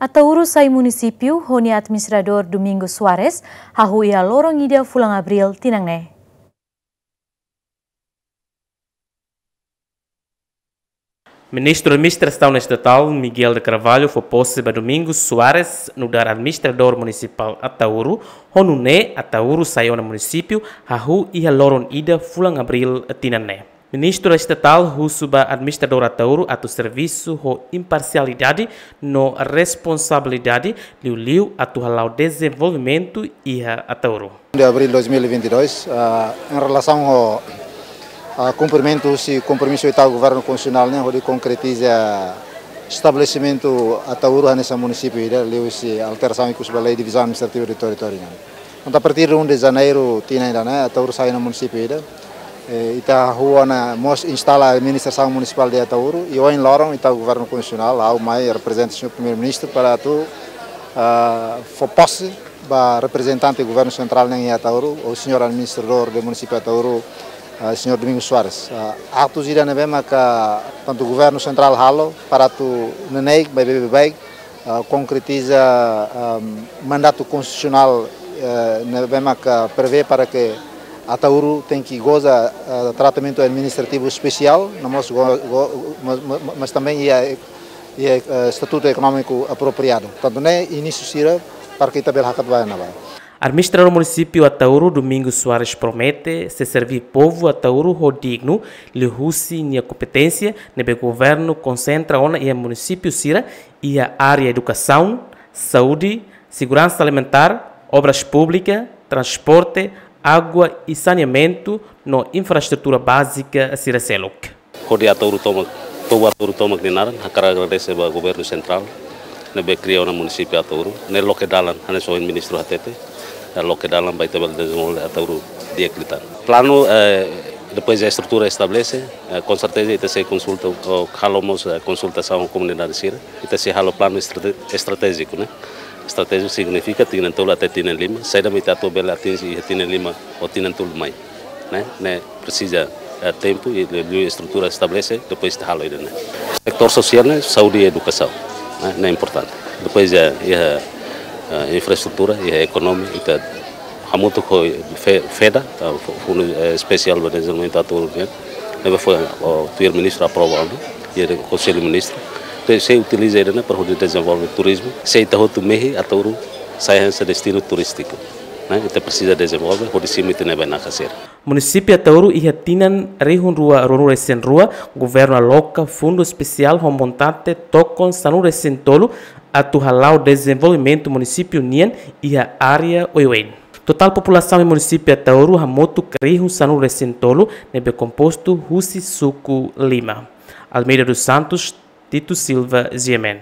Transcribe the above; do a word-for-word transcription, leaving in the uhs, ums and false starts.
Ataúro sai munisípiu ho nia administradór Domingos Soares hahú iha loron ida fulan Abríl tinan ne'e. Ministru Administrasaun Estatál Miguel de Carvalho fó pose ba Domingos Soares nu'udar Administradór Munisipál Ataúro, ho nune'e Ataúro sai ona munisípiu hahú iha loron ida fulan Abríl tinan ne'e. Ministru Estatál husu ba Administradór Ataúro atu servisu ho imparsialidade no responsabilidade, liuliu atu hala'o dezenvolvimentu iha Ataúro. De abril dois mil e vinte e dois, ah, em relação ao, ah, cumprimento husi kompromisu ita Governu Konstitusionál ne'e hodi konkretiza estabelesimentu Ataúro hanesan munisípiu ida, liuhusi alterasaun ikus ba Lei Divizaun Administrativa de Territóriu nian. Entaun, a partir de um de janeiro tinan ida-ne'e, Ataúro sai ona munisípiu ida. Eh, ita hahú ona mós instala administrasaun munisipál de Ataúro, i ohin loron ita Governu Konstitusionál, ha'u mai reprezenta señór Primeiru-Ministru para atu, ah, fó pose ba reprezentante Governu Sentrál nian iha Ataúro, ou señór Administradór de Munisípiu Ataúro, ah, señór Domingos Soares. Ah, aktu ida ne'ebé maka tantu Governu Sentrál halo para atu neineik, baibain, baibain, ah, konkretiza, ah, mandatu konstitusionál, eh, ne'ebé maka prevee para que Ataúro tenke goza, ah, tratamentu administrativu espesiál, no mós go-, go-, mas, mas, mas também iha, iha, eh, estatutu ekonómiku apropriadu. Tantu ne'e inísiu sira para que ita bele hakat ba iha ne'ebá. Administradór Munisípiu Ataúro, Domingos Soares, promete sei serví povu Ataúro ho dignu, liuhusi nia kompeténsia ne'ebé governu konsentra ona iha munisípiu sira, iha área edukasaun, saúde, seguransa alimentár, obras públikas, transporte, água i saneamentu no infraestrutura bázika sira seluk. Hodi Ataúro tomak, povu Ataúro tomak nia naran, hakarak agradese ba Governu Sentrál ne'ebé kria ona munisípiu Ataúro, ne'e loke dalan, hanesan ohin ministru hatete, eh, loke dalan ba ita bele dezenvolve Ataúro di'ak liután. Planu, eh, depois de estrutura estabelese, eh, com certeza ita sei konsulta, ou halo mós, eh, konsultasaun ho komunidade sira, ita sei halo planu estrate-, estratéjiku, ne'e? Estratéjiku signifika tinan tolu até tinan lima, saida mak ita atu bele atinje iha tinan lima ou tinan tolu mai, ne'e? Ne'e presiza, eh, tempu i, i, i estrutura estabelese, depois ita halo ida-ne'e. Setór sosiál ne'e saúde i edukasaun, ne'e? Ne'e importante. Depois iha, iha, eh, infraestrutura, iha ekonomia, ita hamutuk ho fe-, feda, eh, fu-, Fundu, eh, Espesiál ba Dezenvolvimentu Ataúro nian, ne'ebé foin, o, tuir ministru aprova ona, iha Konsellu Ministru. Entaun, sei utiliza ida-ne'e para hodi dezenvolve turizmu. Se ita hotu mehi, Ataúro sai hanesan destinu turístiku, ne'e? Ita presiza dezenvolve, hodi simu ita-nia bainaka sira. Munisípiu Ataúro iha tinan rihun rua ruanulu-resin-rua, governu aloka fundu espesiál ho montante tokon sanulu-resin-tolu atu hala'o dezenvolvimentu munisípiu nian iha área oioin. Totál populasaun iha munisípiu Ataúro hamutuk rihun sanulu-resin-tolu ne'ebé kompostu husi suku lima. Almeida dos Santos, Tito Silva, G M N.